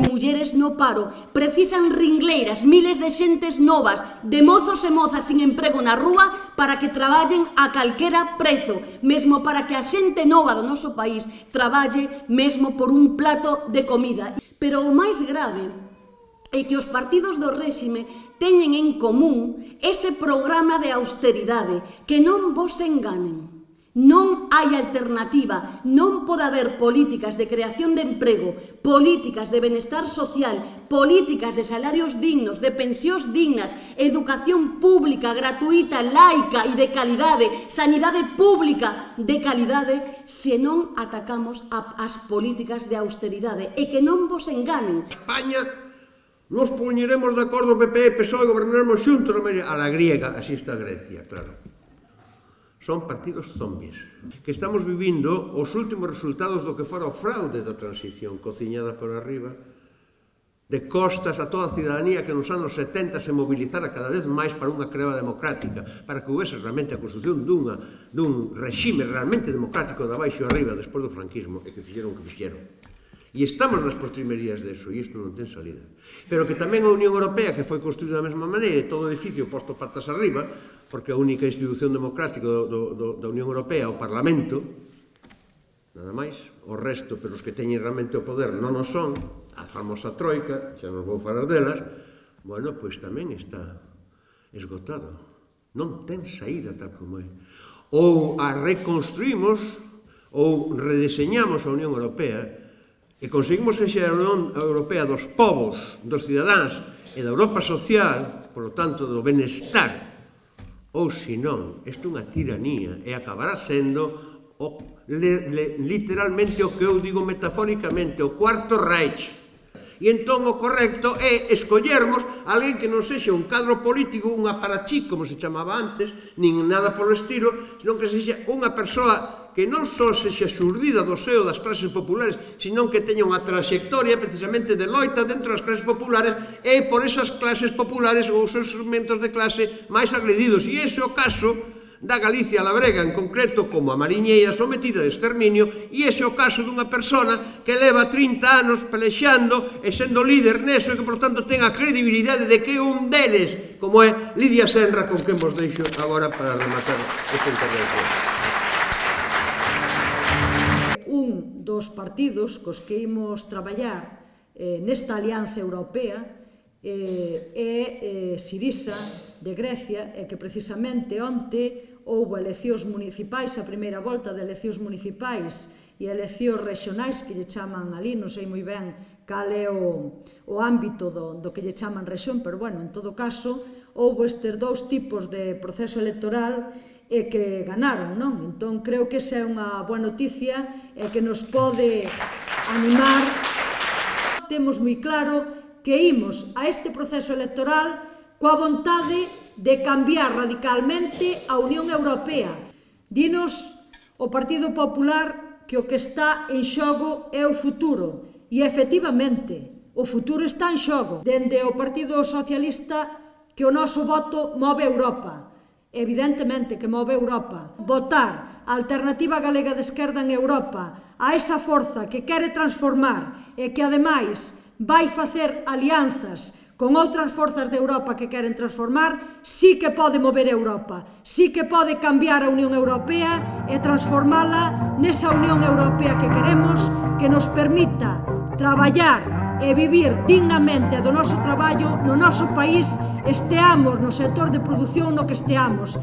mulleres no paro. Precisan ringleiras, miles de xentes novas, de mozos e mozas sin emprego na rúa para que traballen a calquera prezo, mesmo para que a xente nova do noso país traballe mesmo por un plato de comida. Pero o máis grave é que os partidos do réxime teñen en común ese programa de austeridade, que non vos enganen. Non hai alternativa, non pode haber políticas de creación de emprego, políticas de benestar social, políticas de salarios dignos, de pensións dignas, educación pública, gratuita, laica e de calidade, sanidade pública de calidade, se non atacamos as políticas de austeridade. E que non vos enganen. España nos poñeremos de acordo PP e PSOE e gobernaremos xuntos a la griega, así está Grecia, claro. Son partidos zombies, que estamos vivindo os últimos resultados do que fora o fraude da transición, cociñada por arriba, de costas a toda a cidadanía que nos anos 70 se mobilizara cada vez máis para unha creba democrática, para que houvese realmente a construción dun regime realmente democrático de abaixo arriba despois do franquismo, e que fixeron o que fixeron. E estamos nas postrimerías deso, e isto non ten salida. Pero que tamén a Unión Europea, que foi construída da mesma maneira, e todo o edificio posto patas arriba, porque a única institución democrática da Unión Europea, o Parlamento, nada máis, o resto, pero os que teñen realmente o poder non o son, a famosa troika, xa non vou falar delas, bueno, pois tamén está esgotado. Non ten saída tal como é. Ou a reconstruímos, ou redeseñamos a Unión Europea, e conseguimos ser a Unión Europea dos povos, dos cidadáns e da Europa social, por lo tanto, do benestar, ou senón, isto é unha tiranía e acabará sendo literalmente o que eu digo metafóricamente, o Cuarto Reich. E entón o correcto é escollermos alguén que non sexa un cadro político, un aparachí, como se chamaba antes, nin nada polo estilo, senón que sexa unha persoa que non só sexa xurdida do seo das clases populares, senón que teña unha trayectoria precisamente de loita dentro das clases populares e por esas clases populares ou os seus segmentos de clase máis agredidos. E ese é o caso da Galicia labrega en concreto como a mariñeira sometida de exterminio, e ese é o caso dunha persona que leva 30 anos pelexando e sendo líder neso e que, por tanto, ten a credibilidade de que un deles, como é Lidia Senra, con quen vos deixo agora para rematar esta intervención. Un dos partidos cos que imos traballar nesta alianza europea é Sirisa, de Grecia, e que precisamente onte houbo eleccións municipais, a primeira volta de eleccións municipais e eleccións regionais que lle chaman ali, non sei moi ben cal é o ámbito do que lle chaman rexión, pero bueno, en todo caso, houbo estes dous tipos de proceso electoral e que ganaron, non? Entón, creo que esa é unha boa noticia e que nos pode animar. Temos moi claro que imos a este proceso electoral coa vontade de cambiar radicalmente a Unión Europea. Dinos o Partido Popular que o que está en xogo é o futuro. E, efectivamente, o futuro está en xogo. Dende o Partido Socialista que o noso voto move Europa. Evidentemente que move Europa. Votar a Alternativa Galega de Esquerda en Europa, a esa forza que quere transformar e que, ademais, vai facer alianzas con outras forzas de Europa que queren transformar, sí que pode mover Europa, sí que pode cambiar a Unión Europea e transformala nesa Unión Europea que queremos, que nos permita traballar e vivir dignamente do noso traballo no noso país, esteamos no sector de produción no que esteamos.